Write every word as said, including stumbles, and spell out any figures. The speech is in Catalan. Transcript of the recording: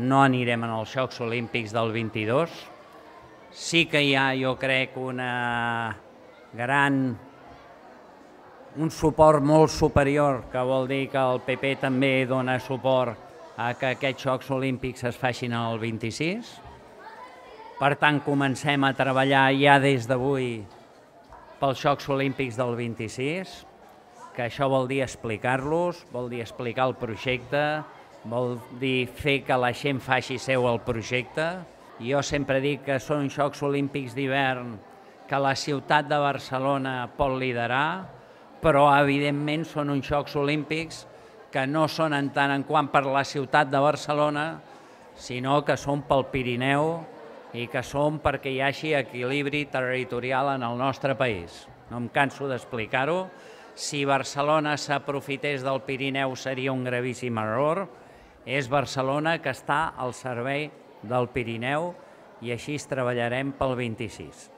no anirem en els Jocs Olímpics del vint-i-dos. Sí que hi ha, jo crec, una gran, un suport molt superior, que vol dir que el P P també dona suport a que aquests Jocs Olímpics es facin el vint-i-sis. Per tant, comencem a treballar ja des d'avui pels Jocs Olímpics del vint-i-sis, que això vol dir explicar-los, vol dir explicar el projecte, vol dir fer que la gent faci seu el projecte. Jo sempre dic que són Jocs Olímpics d'hivern que la ciutat de Barcelona pot liderar, però evidentment són uns Jocs Olímpics que no són en tant en quant per la ciutat de Barcelona, sinó que són pel Pirineu i que són perquè hi hagi equilibri territorial en el nostre país. No em canso d'explicar-ho. Si Barcelona s'aprofités del Pirineu seria un gravíssim error. És Barcelona que està al servei del Pirineu i així treballarem pel vint-i-sis.